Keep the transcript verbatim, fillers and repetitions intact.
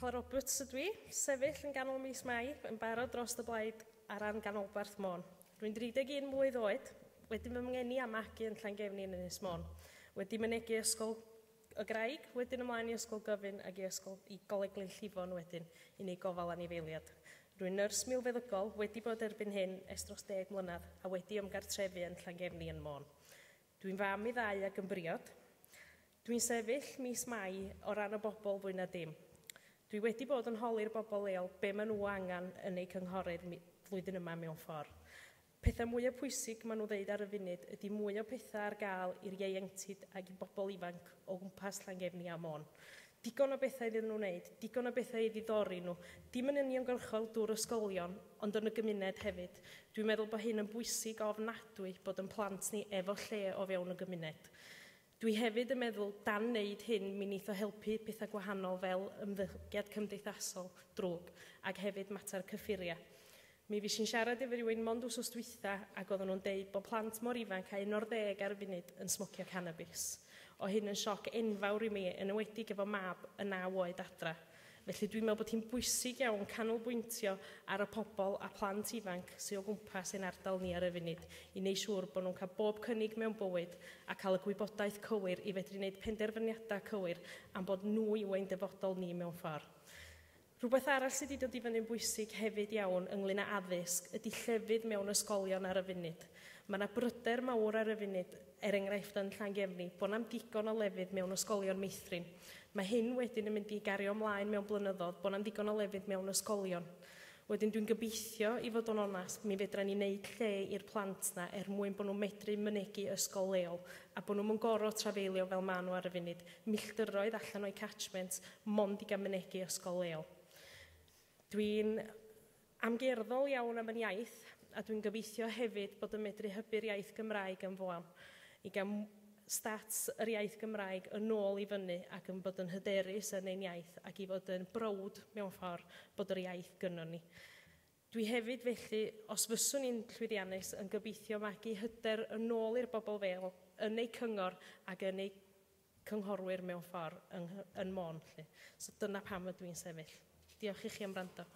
Nicola Roberts ydw i, sefyll yn ganol mis Mai, yn barod dros y blaid ar ran ganolbarth Môn. Rwy'n dri deg un mlwydd oed, wedi fy ngeni a magu yn Llangefni yn Ynys Môn. Wedi mynegi ysgol y Graig, wedyn ymlaen i Ysgol Gyfun ac i ysgol i Goleg Glynllifon wedyn i wneud gofal anifeiliad. Rwy'n nyrs milfeddygol, wedi bod erbyn hyn ers dros deg mlynedd a wedi ymgartrefu yn Llangefni yn Môn. Dwi'n fam i ddau ac yn briod. Dwi'n sefyll mis Mai o ran y bobl fwy na dim. Dwi wedi bod yn holi'r bobl leol be maen nhw angen yn eu cynghorydd flwyddyn yma mewn ffordd. Pethau mwyaf pwysig maen nhw ddeud ar y funud ydy mwy o pethau ar gael i'r ieuenctid ac i bobl ifanc o gwmpas Llangefni a Môn. Digon o bethau iddyn nhw wneud, digon o bethau i ddiddori nhw, dim yn uniongyrchol drwy'r ysgolion, ond yn y gymuned hefyd. Dwi'n meddwl bod hyn yn bwysig ofnadwy bod yn plant ni efo lle o fewn y gymuned. Dwi hefyd yn meddwl dan wneud hyn mi wneith o helpu pethau gwahanol fel ymddygiad cymdeithasol drwg ac hefyd mater cyffuriau. Mi fues i'n siarad efo rhywun mond wsos dwytha ac oedden nhw'n deud bod plant mor ifanc a un o'r ddeg ar y funud yn smocio cannabis. O hyn yn sioc enfawr i mi, yn enwedig efo mab yn naw oed adra. Felly dwi'n meddwl bod hi'n bwysig iawn canolbwyntio ar y pobl a plant ifanc sydd o gwmpas ein ardal ni ar y funud i wneud siŵr bod nhw'n cael bob cynnig mewn bywyd a cael y gwybodaeth cywir i fedru wneud penderfyniadau cywir am bod nhw yw ein dyfodol ni mewn ffordd. Rhywbeth arall sydd wedi dod i fyny'n bwysig hefyd iawn ynglyn â addysg ydy llefydd mewn ysgolion ar y funud. Mae yna bryder mawr ar y funud, er enghraifft yn Llangefni, bod na'm digon o lefydd mewn ysgolion meithrin. Mae hyn wedyn yn mynd i gario ymlaen mewn blynyddoedd, bod na'm digon o lefydd mewn ysgolion. Wedyn dwi'n gobeithio, i fod yn onast, mi fedra ni wneud lle i'r plant na er mwyn bod nhw'n medru mynegi ysgol leol a bod nhw'n gorfod trafeilio fel maen nhw ar y funud, milltiroedd allan o'i catchment, mond i gael mynegi ysgol leol. Dwi'n amgerddol iawn am yn iaith a dwi'n gobeithio hefyd bod yn medru hybu'r iaith Gymraeg yn fuan i gael stats yr iaith Gymraeg yn ôl i fyny ac yn bod yn hyderus yn ein iaith ac i fod yn browd mewn ffordd bod yr iaith gynnon ni. Dwi hefyd felly, os fyswn i'n llwyddiannus, yn gobeithio magu hyder yn ôl i'r bobl fel yn eu cyngor ac yn eu cynghorwyr mewn ffordd yng, yn Môn. Lly. So dyna pam ydw i'n sefyll. Diolch i chi am wrando.